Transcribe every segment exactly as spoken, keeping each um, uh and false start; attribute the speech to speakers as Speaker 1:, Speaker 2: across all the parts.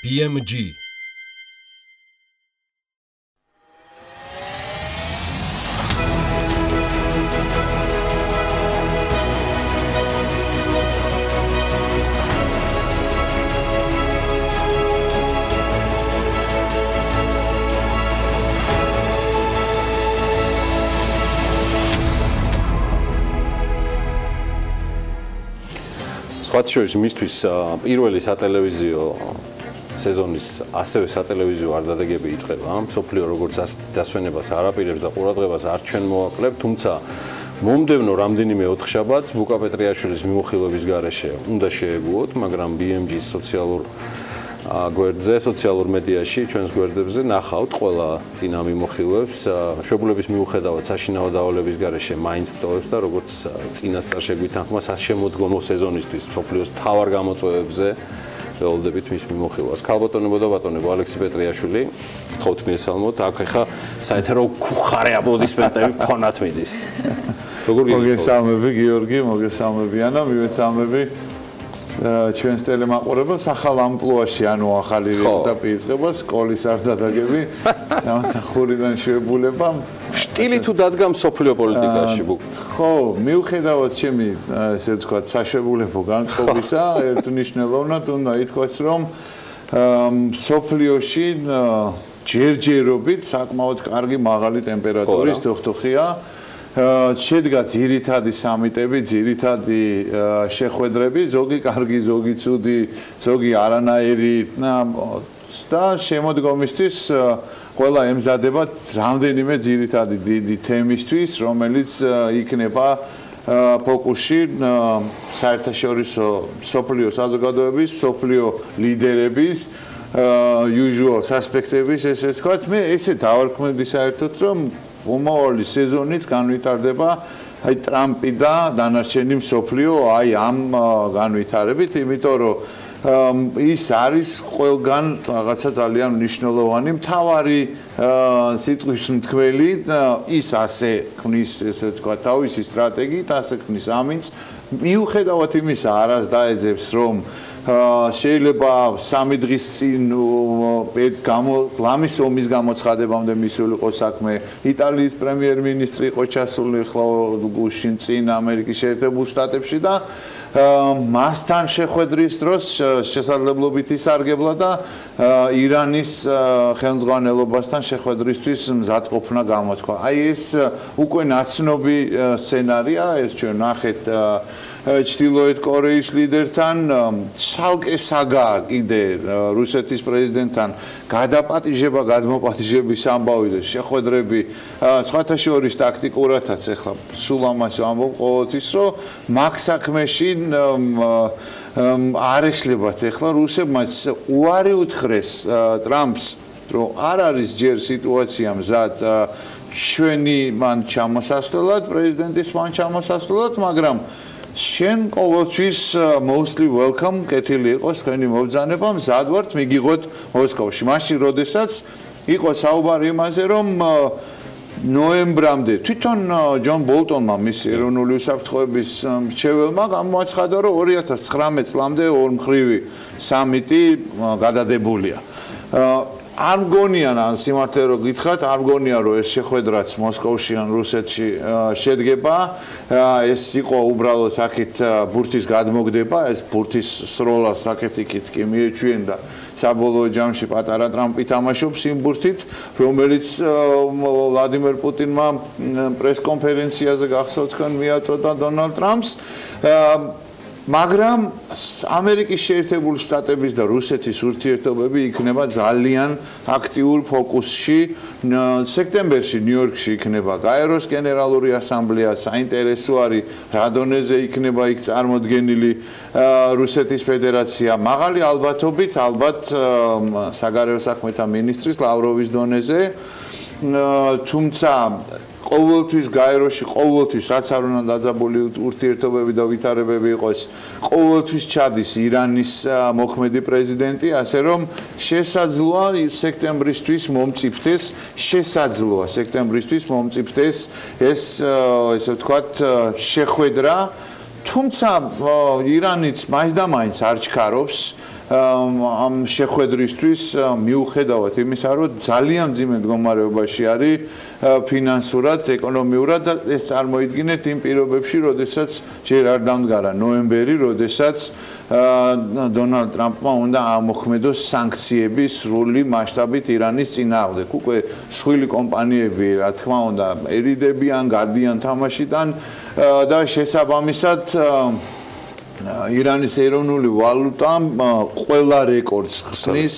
Speaker 1: B M G სხვათა შორის მისთვის პირველი სატელევიზიო სეზონის ასევე სატელევიზიო არდადეგები იწყება. მსოფლიო როგორც დასვენებას არ აპირებს და ყურადღებას არ ჩვენ მოაკლებთ, თუმცა მომდევნო რამდენიმე ოთხშაბათს ბუკა პეტრიაშვილის მიმოხილვების გარეშე უნდა შეეგუოთ, მაგრამ B M G-ის სოციალურ გვერდზე, სოციალურ მედიაში, ჩვენს გვერდებზე ნახავთ ყველა წინა მიმოხილვებს, მშობლების მიუხედავად საშინაო დავალების გარეშე მაინც ვტოვებს და როგორც წინასწარ შეგვითანხმა შემოდგომო სეზონისთვის მსოფლიოს მთავარ გამოწვევებზე ველოდებით მის მიმოხილვას. ქალბატონებო და ბატონებო, ალექსი პეტრიაშვილი, გთხოვთ მიესალმოთ. აქ ახლა საერთო ხარე აპლოდისმენტები ფონად მიდის. როგორ
Speaker 2: მოგესალმები გიორგი, მოგესალმები ანა, მივესალმები ჩვენს ტელემაყურებელს ახალ ამპლუაში, ანუ ახალი ეტაპი იწყება, სკოლის არდადეგები, სამსახურიდან შეებულება.
Speaker 1: სტილი თუ დადგა მსოფლიო პოლიტიკაში?
Speaker 2: ხო, მიუხედავად ჩემი, ესე ვთქვათ, საშუალებო განწყობისა, ერთნიშნულოვნად უნდა ითქვას, რომ მსოფლიოში ჯერჯერობით საკმაოდ კარგი მაღალი ტემპერატურის დოხდოხია. შედგა ძირითადი სამიტები, ძირითადი შეხვედრები, ზოგი კარგი, ზოგი ცუდი, ზოგი არანაირი და შემოდგომისთვის ყველა ემზადება რამდენიმე ძირითადი დიდი თემისთვის, რომელიც იქნება ფოკუსში საერთაშორისო მსოფლიო საზოგადოების, მსოფლიო ლიდერების usual suspects-ების, ესე ვთქვათ, მე ესე დავარქმევდი საერთოდ, რომ უმავალი სეზონიც განვითარდება აი ტრამპი და დანარჩენი მსოფლიო აი ამ განვითარებით, იმიტომ რომ ის არის ყველგან რაღაცა ძალიან მნიშვნელოვანი მთავარი სიტყვის მთქმელი, ის ასე ქმნის, ესე ვთქვათ, თავისი სტრატეგიით, ასე ქმნის ამინდს, მიუხედავად იმისა, არას დაეძებს, რომ შეიძლება სამი დღის წინ ლამის ომის გამოცხადებამდე მისულიყო საქმე, იტალიის პრემიერ-მინისტრი იყო ჩასული ხლა გუშინ წინ ამერიკის შეერთებულ შტატებში და მასთან შეხვედრის დროს შესაძლებლობით ისარგებლა და ირანის ხელმძღვანელობასთან შეხვედრისთვის მზადყოფნა გამოთქვა. აი ეს უკვე ნაცნობი სცენარია, ეს ჩვენ ნახეთ ჩრდილოეთ კორეის ლიდერთან, ცალკე საგაა კიდე რუსეთის პრეზიდენტთან გადაპატიჟება, გადმოპატიჟების ამბავი და შეხვედრები, სხვათა შორის ტაქტიკურადაც ახლა სულ ამას ვამბობ ყოველთვის, რომ მაგ საქმეში არ ეშლებათ ახლა რუსებმა უარი უთხრეს ტრამპს, რომ არ არის ჯერ სიტუაცია მზად ჩვენი მან ჩამოსასვლელად, პრეზიდენტის მან ჩამოსასვლელად, მაგრამ შენ ყოველთვის mostly welcome კეთილი იყოს თქვენი მობრძანება, მზად ვართ მიგიღოთ მოსკოვში. მაშინ როდესაც იყო საუბარი იმაზე, რომ ნოემბრამდე თვითონ ჯონ ბოლტონმა მის ეროვნული უსაფრთხოების მრჩეველმა გამოაცხადა, რომ ორი ათას ცხრამეტ წლამდე ორმხრივი სამიტი გადადებულია. არ მგონია ან სიმართლე რო გითხრათ, არ მგონია რომ ეს შეხვედრაც მოსკოვში ან რუსეთში შედგება, ეს იყო უბრალოდ აქეთ ბურთის გადმოგდება, ეს ბურთის სროლას აქეთ-იქით კი მიეჩვიენ და საბოლოო ჯამში პატარა ტრამპი თამაშობს იმ ბურთით, რომელიც ვლადიმერ პუტინმა პრესკონფერენციაზე გახსოვთ თქვენ მიაწოდა დონალდ ტრამპს. მაგრამ ამერიკის შეერთებული შტატების და რუსეთის ურთიერთობები იქნება ძალიან აქტიურ ფოკუსში. სექტემბერში ნიუ-იორკში იქნება გაეროს გენერალური ასამბლეა, საინტერესო არის რა დონეზე იქნება იქ წარმოდგენილი რუსეთის ფედერაცია. მაღალი ალბათობით, ალბათ საგარეო საქმეთა მინისტრის ლავროვის დონეზე, თუმცა ყოველთვის გაეროში, ყოველთვის რაც არ უნდა დაძაბული ურთიერთობები და ვითარებები იყოს, ყოველთვის ჩადის ირანის მოქმედი პრეზიდენტი, ასე რომ შესაძლოა სექტემბრისთვის მომწიფდეს, შესაძლოა სექტემბრისთვის მომწიფდეს ეს, ესე ვთქვათ, შეხვედრა, თუმცა ირანიც მაინც და მაინც არ ჩქარობს ამ შეხვედრისთვის მიუხედავად იმისა, რომ ძალიან მძიმე მდგომარეობაში არის ფინანსურად, ეკონომიურად და ეს წარმოიდგინეთ იმ პირობებში, როდესაც ჯერ არ დამდგარა ნოემბერი, როდესაც დონალდ ტრამპმა უნდა ამოქმედოს სანქციები სრული მასშტაბით ირანის წინააღმდეგ. უკვე მსხვილი კომპანიები, რა თქმა უნდა, ერიდებიან, გადიან თამაშიდან და შესაბამისად ირანის ეროვნული ვალუტა ყველა რეკორდს ხსნის,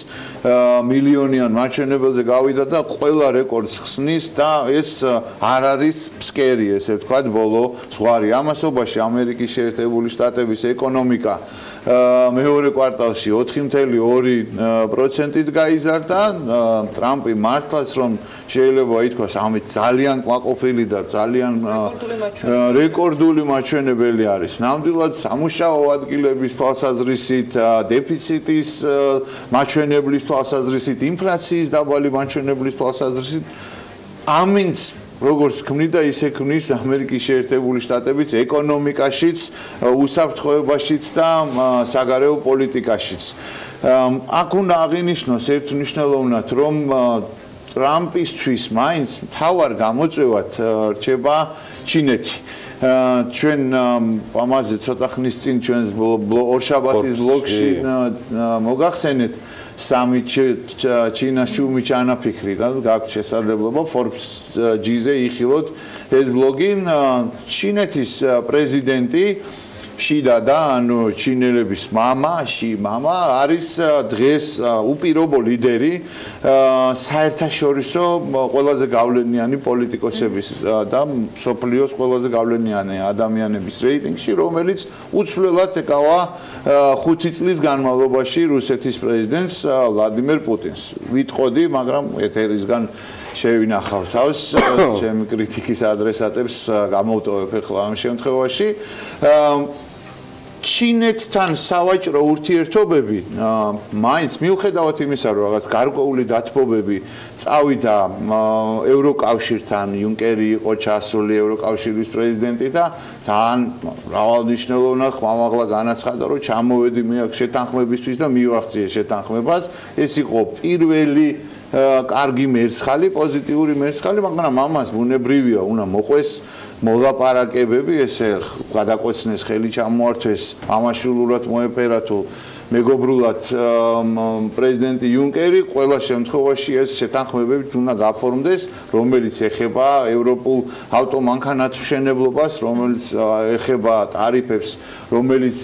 Speaker 2: მილიონიან მაჩვენებელზე გავიდა და ყველა რეკორდს ხსნის და ეს არ არის ფსკერი, ესე ვთქვათ, ბოლო ზღვარი. ამასობაში ამერიკის შეერთებული შტატების ეკონომიკა მეორე კვარტალში ოთხი კoma ორი პროცენტით გაიზარდა. ტრამპი მართლაც რომ შეიძლება ითქვას, ამით ძალიან კმაყოფილი და ძალიან რეკორდული მაჩვენებელი არის. ნამდვილად სამუშაო ადგილების თვალსაზრისით, დეფიციტის მაჩვენებლის თვალსაზრისით, ინფლაციის დაბალი მაჩვენებლის თვალსაზრისით, ამინც როგორც ქმნიდა, ისე ქმნის ამერიკის შეერთებული შტატებიც ეკონომიკაშიც, უსაფრთხოებაშიც და საგარეო პოლიტიკაშიც. აქ უნდა აღინიშნოს ერთმნიშვნელოვნად, რომ ტრამპისთვის მაინც მთავარ გამოწვევად რჩება ჩინეთი. ჩვენ ამაზე ცოტა ხნის წინ ჩვენს ორშაბათის ბლოგში მოგახსენეთ სამი ჩინას ჩუმი ჩანაფიქრი და გაქვთ შესაძლებლობა Forbes G-ზე იხილოთ ეს ბლოგი. ჩინეთის პრეზიდენტი შიდა და ანუ ჩინელების მამა, ში მამა არის დღეს უპირობო ლიდერი საერთაშორისო ყველაზე გავლენიანი პოლიტიკოსების და სოფლიოს ყველაზე გავლენიანი ადამიანების რეიტინგში, რომელიც უცვლელად ეკავა ხუთი წლის განმავლობაში რუსეთის პრეზიდენტს ვლადიმერ პუტინს. ვიტყოდი, მაგრამ ეთერისგან შევინახავ თავს ჩემი კრიტიკის ადრესატებს გამოვტოვებ ახლა ამ შემთხვევაში. ჩინეთთან სავაჭრო ურთიერთობები მაინც მიუხედავად იმისა, რომ რაღაც გარკვეული დათბობები წავიდა ევროკავშირთან, იუნკერი იყო ჩასული ევროკავშირის პრეზიდენტი და ძალიან მრავალნიშნულოვნად ხმამაღლა განაცხადა, რომ ჩამოვედი მე აქ შეთანხმებისთვის და მივახციე შეთანხმებას. ეს იყო პირველი კარგი მერცხალი, პოზიტიური მერცხალი, მაგრამ ამას ბუნებრივია უნდა მოყვეს მოლაპარაკებები, ესე გადაკვეცნეს, ხელი ჩამოართვეს, ამაშულურად მოეპერა თუ მეგობრულად პრეზიდენტი იუნკერი, ყველა შემთხვევაში ეს შეთანხმებები უნდა გაფორმდეს, რომელიც ეხება ევროპულ ავტომანქანათმშენებლობას, რომელიც ეხება ტარიფებს, რომელიც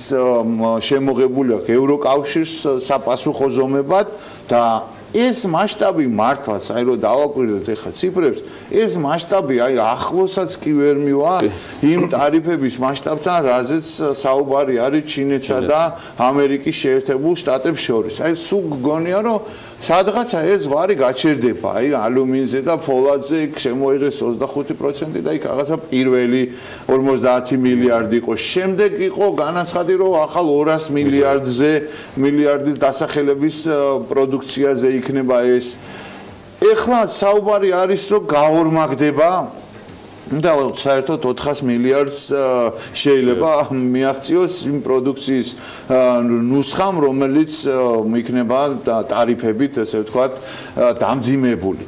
Speaker 2: შემოღებული აქვს ევროკავშირს საპასუხო ზომებად და ეს მასშტაბი მართლაც, აი რომ დავაკვირდეთ ახლა ციფრებს, ეს მასშტაბი აი ახლოსაც კი ვერ მივა იმ ტარიფების მასშტაბთან, რაზეც საუბარი არის ჩინეთსა და ამერიკის შეერთებულ შტატებს შორის. აი სულ გგონია, რომ სადღაცა ეს ზღვარი გაჩერდება, აი ალუმინზე და ფოლადზე შემოიღეს ოცდახუთი პროცენტი და იქ რაღაცა პირველი ორმოცდაათი მილიარდი იყო. შემდეგ იყო განაცხადი, რომ ახალ ორას მილიარდზე მილიარდის დასახელების პროდუქციაზე იქნება ეს. ეხლა საუბარი არის, რომ გაორმაგდება და საერთოდ ოთხას მილიარდს შეიძლება მიაღწიოს იმ პროდუქციის ნუსხამ, რომელიც იქნება ტარიფებით, ესე ვთქვათ, დამძიმებული.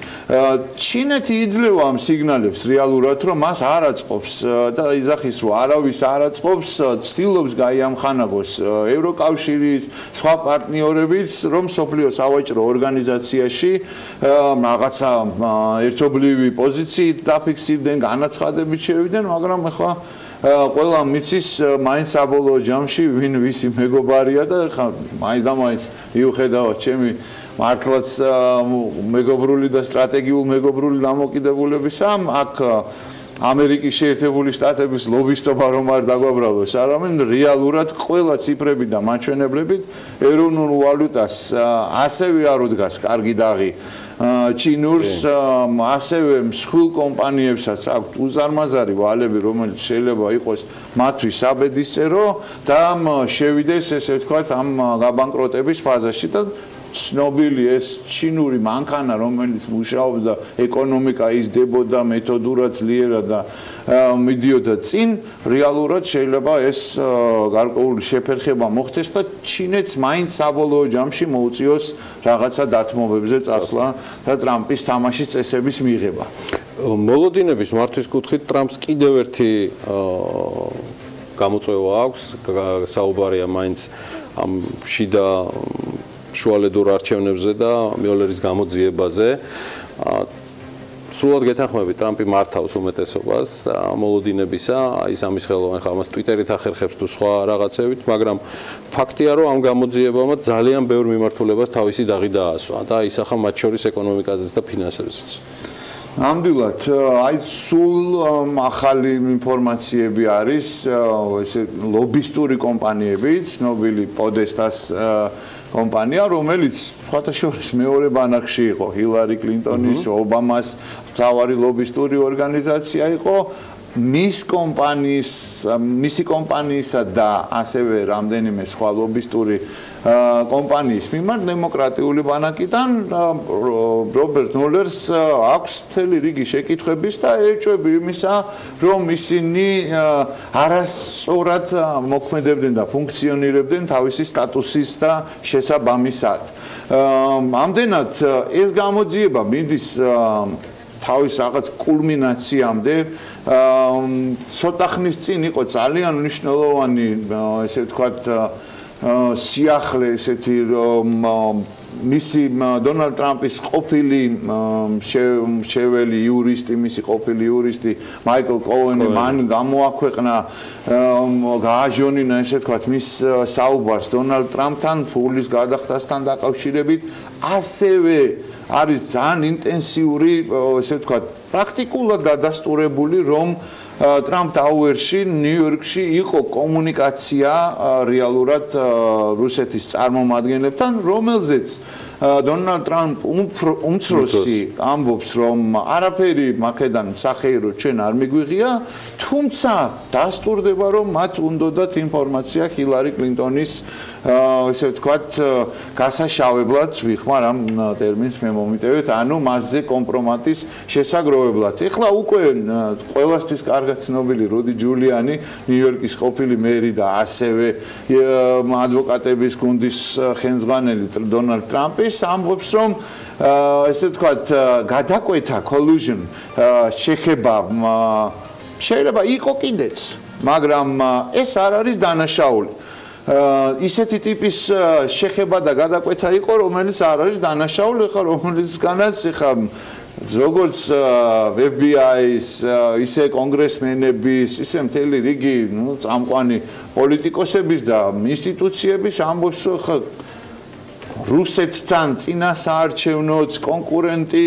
Speaker 2: ჩინეთი იძლევა ამ სიგნალებს რეალურად, რომ მას არ აწყობს და იძახის, რომ არავის არ აწყობს, ცდილობს გაიამხანაგოს ევროკავშირის, სხვა პარტნიორებიც, რომ სოფლიო სავაჭრო ორგანიზაციაში რაღაცა ერთობლივი პოზიციით დაფიქსირდნენ, განაცხადებით შევიდნენ, მაგრამ ახლა ყველა მიცის მაინც საბოლოო ჯამში ვინ ვისი მეგობარია და ახლა მაინც და მაინც მიუხედავად ჩემი მართლაც მეგობრული და სტრატეგიულ მეგობრული დამოკიდებულებისა, აქ ამერიკის შეერთებული შტატების ლობისტობა რომ არ დაგვაბრალოს, არამედ რეალურად ყველა ციფრები და მაჩვენებლებით ეროვნულ ვალუტას ასევე არ უდგას კარგი დაღი ჩინურს, ასევე მსხვილ კომპანიებსაც აქვთ უზარმაზარი ვალები, რომელიც შეიძლება იყოს მათთვის საბედისწერო და შევიდეს, ესე ვთქვათ, ამ გაბანკროტების ფაზაში და ცნობილი ეს ჩინური მანქანა, რომელიც მუშაობდა, ეკონომიკა იზრდებოდა მეთოდურად ძლიერად და მიდიოდა წინ, რეალურად შეიძლება ეს გარკვეული შეფერხება მოხდეს და ჩინეთს მაინც საბოლოო ჯამში მოუწიოს რაღაცა დათმობებზე წასვლა და ტრამპის თამაშის წესების მიღება.
Speaker 1: მოლოდინების მართვის კუთხით ტრამპს კიდევ ერთი გამოწვევა აქვს, საუბარია მაინც ამ შიდა შუალედურ არჩევნებზე და მიოლერის გამოძიებაზე. სრულად გეთანხმებით, ტრამპი მართავს უმეტესობას მოლოდინებისა, ის ამის ხელოვანი ხალხს ტვიტერით ახერხებს თუ სხვა რაღაცებით, მაგრამ ფაქტია, რომ ამ გამოძიებამ ძალიან ბევრ მიმართულებას თავისი დაღი დაასვა და ისახა მათ შორის ეკონომიკაზეც და ფინანსებზეც.
Speaker 2: ნამდვილად, აი სულ ახალი ინფორმაციები არის, ესე ლობისტური კომპანიები, ცნობილი პოდესტას კომპანია, რომელიც სხვათა შორის მეორე ბანაკში იყო, ჰილარი კლინტონის, ობამას მთავარი ლობისტური ორგანიზაცია იყო, მის კომპანიის, მისი კომპანიისა და ასევე რამდენიმე სხვა ლობისტური კომპანიის მიმართ დემოკრატიული ბანაკიდან რობერტ მულერს აქვს მთელი რიგი შეკითხვების და ეჭვები იმისა, რომ ისინი არასწორად მოქმედებდნენ და ფუნქციონირებდნენ თავისი სტატუსის და შესაბამისად. ამდენად ეს გამოძიება მიდის თავის რაღაც კულმინაციამდე, ცოტა ხნის წინ იყო ძალიან მნიშვნელოვანი, ესე ვთქვათ, სიახლე ესეთი რომ მისი დონალდ ტრამპის ყოფილი მრჩეველი იურისტი, მისი ყოფილი იურისტი მაიკლ კოენი მან გამოაქვეყნა, გააჟონინა ესე ვთქვათ მის საუბარს დონალდ ტრამპთან ფულის გადახდასთან დაკავშირებით, ასევე არის ძალიან ინტენსიური, ესე ვთქვათ, პრაქტიკულად დადასტურებული, რომ ტრამპ ტაუერში, ნიუ-იორკში იყო კომუნიკაცია რეალურად რუსეთის წარმომადგენლებთან, რომელზეც დონალდ ტრამპ უმცროსი ამბობს, რომ არაფერი მაქედან სახეირო ჩვენ არ მიგვიღია, თუმცა დასტურდება, რომ მათ უნდათ ინფორმაცია ჰილარი კლინტონის ესე ვთქვათ, გასაშავებლად, ვიხმარ ამ ტერმინს მე მომიტევეთ, ანუ მასზე კომპრომატის შესაგროვებლად. ეხლა უკვე ყველასთვის კარგად ცნობილი რუდი ჯულიანი, ნიუ-იორკის ყოფილი მერი და ასევე ადვოკატების გუნდის ხელმძღვანელი დონალდ ტრამპის ამბობს, რომ ესე ვთქვათ, გადაკვეთა collusion შეხება შეიძლება იყო კიდეც, მაგრამ ეს არ არის დანაშაული. ისეთი ტიპის შეხება და გადაკვეთა იყო, რომელიც არ არის დანაშაული, ხა რომელიცგანაც ხა როგორც ეფ ბი აის, ისე კონგრესმენების, ისე მთელი რიგი, ნუ წამყვანი პოლიტიკოსების და ინსტიტუციების ამბობს, ხა რუსეთთან წინასაარჩევნოთ კონკურენტი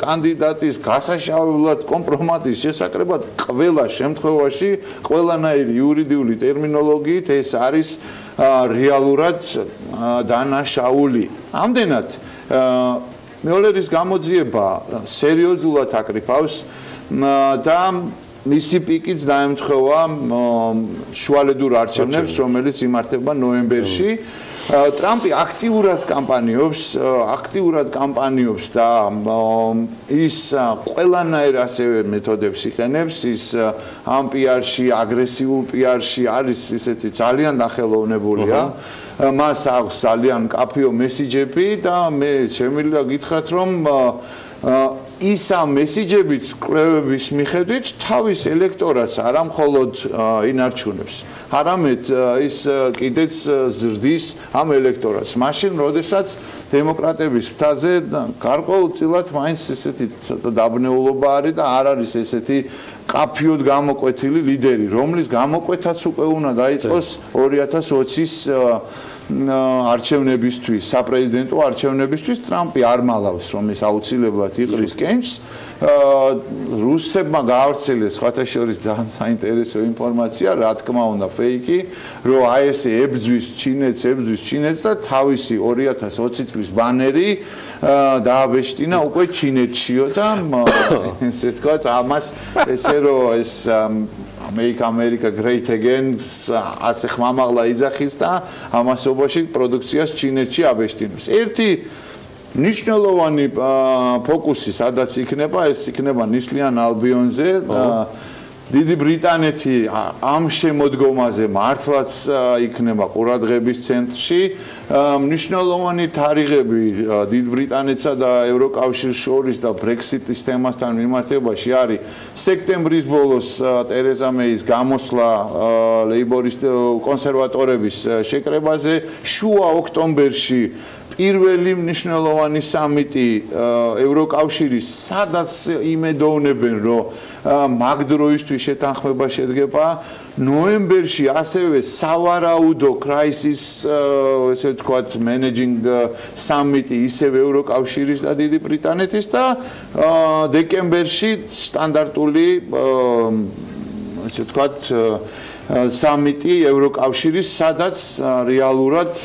Speaker 2: კანდიდატის გასაშავებლად კომპრომატის შესაკრებად ყველა შემთხვევაში, ყველანაირი იურიდიული ტერმინოლოგიით ეს არის რეალურად დანაშაული. ამდენად მიოლერის გამოძიება სერიოზულად აკრიფავს და მისი პიკიც დაემთხვევა შუალედურ არჩევნებს, რომელიც იმართება ნოემბერში. ტრამპი აქტიურად კამპანიობს, აქტიურად კამპანიობს და ის ყველანაირ ასევე მეთოდებს იყენებს, ის ამ პიარში, აგრესიულ პიარში არის ისეთი ძალიან დახელოვნებულია. მას აქვს ძალიან კაფეო მესიჯები და მე შემიძლია გითხრათ, რომ ის ამ მესიჯებით კვლევების მიხედვით თავის ელექტორატს არა მხოლოდ ინარჩუნებს, არამედ ის კიდეც ზრდის ამ ელექტორატს. მაშინ, როდესაც დემოკრატების მთაზე გარკვეულწილად მაინც ესეთი დაბნეულობა არის და არ არის ესეთი კაფეოდ გამოკვეთილი ლიდერი, რომლის გამოკვეთაც უკვე უნდა დაიწყოს ორი ათას ოცის არჩევნებისთვის, საპრეზიდენტო არჩევნებისთვის. ტრამპი არ მალავს, რომ ეს აუცილებლად იყრის კენჭს. რუსებმა გაავრცელეს სხვათა შორის ძალიან საინტერესო ინფორმაცია, რა თქმა უნდა, ფეიკი, რომ აი ესე ებძვის ჩინეთს, ებძვის ჩინეთს და თავისი ორი ათას ოცი წლის ბანერი დააბეჭდინა უკვე ჩინეთშიო და ესე ვთქვათ, ამას ესე რომ ეს Make America Great Again ასე ხმამაღლა იძახის და ამასობაში პროდუქციას ჩინეთში აბეჭდინებს. ერთი ნიშნულოვანი ფოკუსი სადაც იქნება, ეს იქნება ნისლიან ალბიონზე. დიდი ბრიტანეთი ამ შემოდგომაზე მართლაც იქნება ყურადღების ცენტრში. მნიშვნელოვანი თარიღები დიდ ბრიტანეთსა და ევროკავშირის შორის და ბრექსიტის თემასთან მიმართებაში არის სექტემბრის ბოლოს ტერეზა მეის გამოსვლა ლეიბორისტ კონსერვატორების შეკრებაზე, შუა ოქტომბერში პირველი მნიშვნელოვანი სამიტი ევროკავშირის, სადაც იმედოვნებენ, რომ მაგ დროისთვის შეთანხმება შედგება. ნოემბერში ასევე სავარაუდო crisis, ესე ვთქვათ, managing სამიტი ისევ ევროკავშირის და დიდი ბრიტანეთის და დეკემბერში სტანდარტული ესე ვთქვათ სამიტი ევროკავშირის, სადაც რეალურად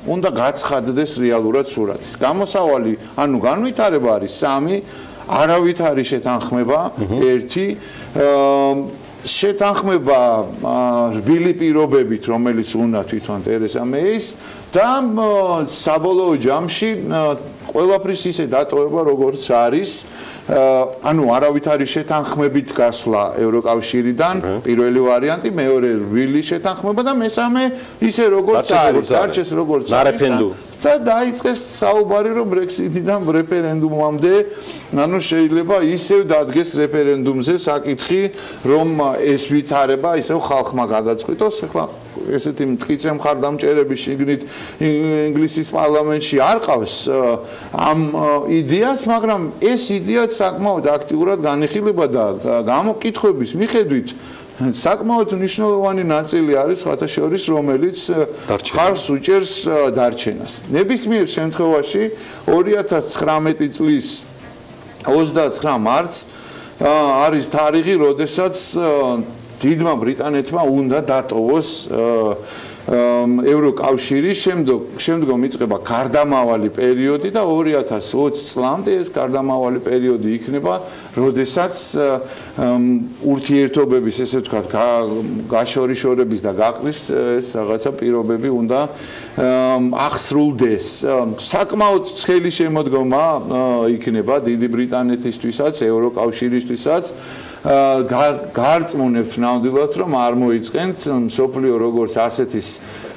Speaker 2: უნდა გაცხადდეს რეალურად სურათი. გამოსავალი, ანუ განვითარება არის სამი, არავით არის შეთანხმება ერთი, შეთანხმება რბილი პირობებით, რომელიც უნდა თვითონ ტერეზა მეის და საბოლოო ჯამში ყველაფრის ისე დატოვება, როგორც არის. ანუ არავით არის შეთანხმებით გასვლა ევროკავშირიდან, პირველი ვარიანტი, მეორე რბილი შეთანხმება და მესამე ისე როგორც არის, არჩეს როგორც
Speaker 1: არის.
Speaker 2: და დაიწყეს საუბარი, რომ ბრექსიტიდან რეფერენდუმამდე, ანუ შეიძლება ისევ დადგეს რეფერენდუმზე საკითხი, რომ ეს ვითარება ისევ ხალხმა გადაწყვიტოს. ახლა ესეთი მტკიცე მხარდამჭერები შიგნით ინგლისის პარლამენტში არ ყავს ამ იდეას, მაგრამ ეს იდეა საკმაოდ აქტიურად განიხილება და გამოკითხვების მიხედვით საკმაოდ მნიშვნელოვანი ნაწილი არის სხვათა შორის, რომელიც ხარს უჭერს დარჩენას. ნებისმიერ შემთხვევაში ორი ათას ცხრამეტი წლის ოცდაცხრა მარტს არის თარიღი, როდესაც დიდმა ბრიტანეთმა უნდა დატოვოს ევროკავშირი, შემდგომ შემდგომ იწყება გარდამავალი პერიოდი და ორი ათას ოცი წლამდე ეს გარდამავალი პერიოდი იქნება, როდესაც ურთიერთობების, ესე ვთქვათ, გაშორიშორების და გაყრის ეს რაღაცა პირობები უნდა აღსრულდეს. საკმაოდ ცხელი შემოდგომა იქნება დიდი ბრიტანეთისთვისაც, ევროკავშირისთვისაც. გარწმუნებთ ნამდვილად, რომ არ მოიწყენთ მსოფლიო როგორც ასეთის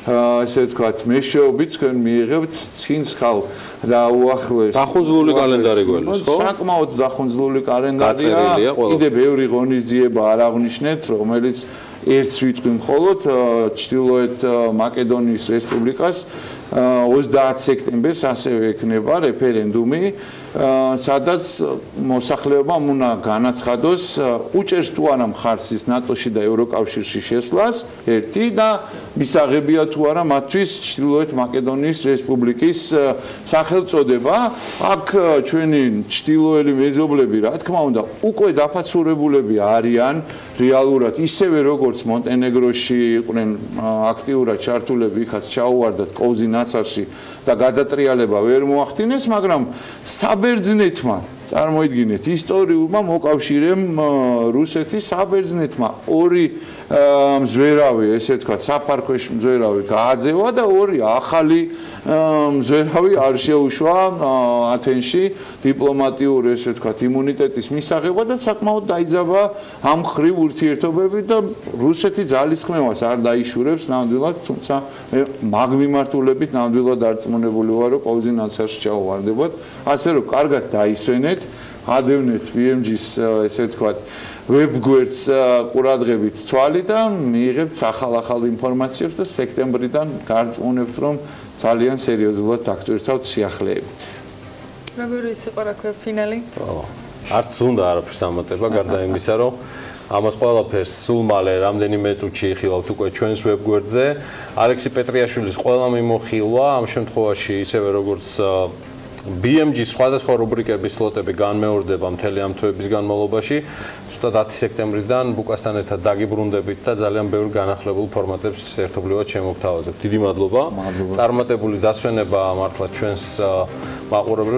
Speaker 2: ესე ვთქვათ, მეშვეობით თქვენ მიიღებთ ცინცხალ და უახლოეს
Speaker 1: დახუნძლული კალენდარი გველის, ხო?
Speaker 2: საკმაოდ დახუნძლული კალენდარია. კიდე ბევრი ღონისძიება არ აღნიშნეთ, რომელიც ერთს ვიტყვი მხოლოდ ჩრდილოეთ მაკედონიის რესპუბლიკას ოცდაათ სექტემბერს ასევე ექნება რეფერენდუმი, სადაც მოსახლეობამ უნდა განაცხადოს, უჭერს თუ არა მხარს ის ნატოში და ევროკავშირში შესვლას, ერთი და მისაღებია თუ არა მათთვის ჩრდილოეთ მაკედონიის რესპუბლიკის სახელწოდება. აქ ჩვენი ჩრდილოელი მეზობლები, რა თქმა უნდა, უკვე დაფაცურებულები არიან რეალურად, ისევე როგორც მონტენეგროში იყვნენ აქტიურად ჩართულები, იქაც ჩაუვარდათ კოვზი ნაცარში და გადატრიალება ვერ მოახდინეს, მაგრამ საბერძნეთმა, წარმოიდგინეთ, ისტორიულმა მოკავშირემ რუსეთის საბერძნეთმა ორი მზვერავი, ესე ვთქვათ, საფარქვეშ მზვერავი გააძევა და ორი ახალი მზვერავი არ შეუშვა ათენში დიპლომატიურ, ესე ვთქვათ, იმუნიტეტის მისაღება და საკმაოდ დაიძაბა ამ ხრივ ურთიერთობები და რუსეთი ძალისხმევას არ დაიშურებს ნამდვილად, თუმცა მე მაგ მიმართულებით ნამდვილად არწმუნებული ვარ, რომ კოვზი ნაცარში ჩავვარდებათ, ასე რომ კარგად დაისვენეთ, ადევნეთ ბი ემ ჯის, ესე ვთქვათ, ვებგვერდს ყურადღებით თვალი და მიიღებთ ახალ-ახალ ინფორმაციებს და სექტემბრიდან გარწმუნებთ, რომ ძალიან სერიოზულად დაგტვირთავთ სიახლეებით.
Speaker 3: როგორი იყო რა ქვია ფინალი?
Speaker 1: არც უნდა არაფერს დამატება, გარდა იმისა, რომ ამას ყველაფერს სულ მალე რამდენიმე წუთში იხილავთ უკვე ჩვენს ვებგვერდზე. ალექსი პეტრიაშვილის ყველა მიმოხილვა ამ შემთხვევაში ისევე როგორც ბი ემ ჯის სხვადასხვა რუბრიკების სლოტები განმეორდება მთელი ამ თვეების განმავლობაში. ზუსტად ათი სექტემბრიდან ბუკასთან ერთად დაგიბრუნდებით და ძალიან ბევრ განახლებულ ფორმატებს ერთობლივად შემოგთავაზებთ. დიდი მადლობა. წარმატებული დასვენება მართლა ჩვენს მაყურებლებს.